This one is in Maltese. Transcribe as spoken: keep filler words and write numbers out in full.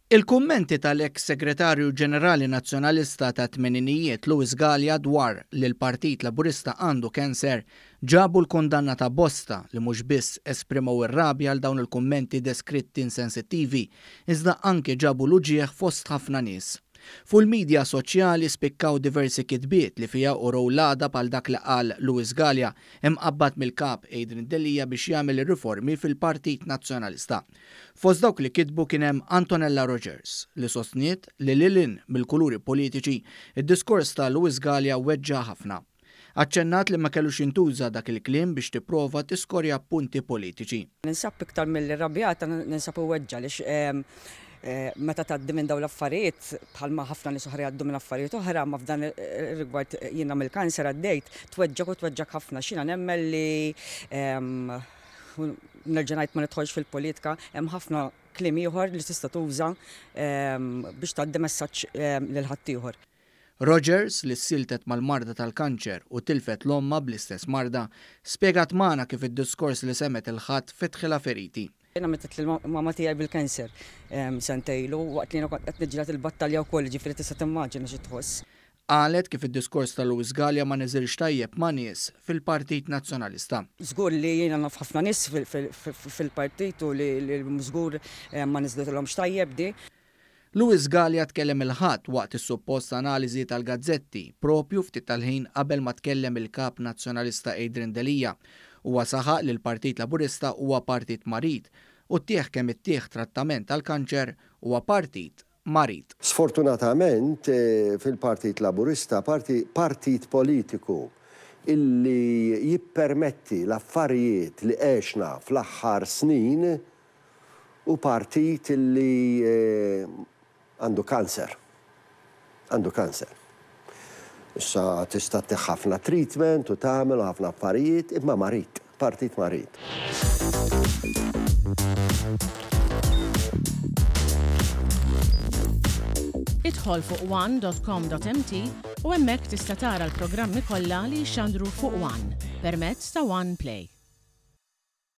Il-kummenti tal-eks segretarju ġenerali nazzjonalista tat-tmeninijiet Louis Galea dwar li l-Partit Laburista għandu kanser ġabu l-kundanna ta' bosta li mhux biss esprimew ir-rabja għal dawn il-kummenti deskritti insensittivi, iżda anke ġabu l-uġigħ fost ħafna nies. Fuq il-midja soċjali spikkaw diversi kitbiet li fiha urew l-għadab għal dak li qal Louis Galea, imqabbad mill-kap Adrian Delia biex jagħmel ir-riformi fil-Partit Nazzjonalista. Fost dawk li kitbu kien hemm Antonella Rogers, li sostniet li lil hinn mill-kuluri politiċi, id-diskors ta' Louis Galea weġġa' ħafna. Aċċennat li ma kellux jintuża dak il-kliem biex tipprova tiskorja punti politiċi. Ninsab iktar milli rrabjata, ninsab imweġġa' għaliex meta tgħaddi minn dawn l-affarijiet, bħalma ħafna nies oħra jgħaddu minn affarijiet oħra, ma f'dan ir-rigward jiena mill-kanser għaddejt, tweġġak u tweġġak ħafna. X'jiena nemmen li nerġa' ngħid ma nidħolx fil-politika, hemm ħafna kliem ieħor li tista' tuża biex tgħaddi messaġġ lil ħaddieħor. Rogers, li ssiltet mal-marda tal-kanċer u tilfet l-omma bl-istess marda, spjegat magħna kif id-diskors li semgħet il-Ħadd fetħilha feriti. Jiena mietet l-mama tiegħi bil-kanser sentejlu, waqt li jiena kont qed niġġieled il-battalja wkoll, ġifieri tista' timmaġina xi tħoss. Qalet kif id-diskors ta' Louis Galea ma niżilx tajjeb ma' nies fil-Partit Nazzjonalista. Żgur li jiena naf ħafna nies fil-partit u li żgur ma niżlitilhomx tajjeb di. Louis Galea tkellem il-Ħadd waqt is-suppost analiżi tal-gazzetti, propju ftit tal-ħin qabel ma tkellem il-kap nazzjonalista Adrian Delia. Huwa saħaq li l-Partit Laburista huwa partit marid u ttieħ kemm ittieħ trattament tal-kanċer huwa partit marid. Sfortunatament fil-Partit Laburista, partit politiku illi jippermetti l-affarijiet li għexna fl-aħħar snin u partit illi għandu kanser. Għandu kanser. Issa tista' ttih ħafna treatment u tagħmel ħafna affarijiet, imma marid, partit marid. Idħol fuq one dot com dot m t u hemmhekk tista' tara l-programmi kollha li jxandru fuq One permezz ta' One Play.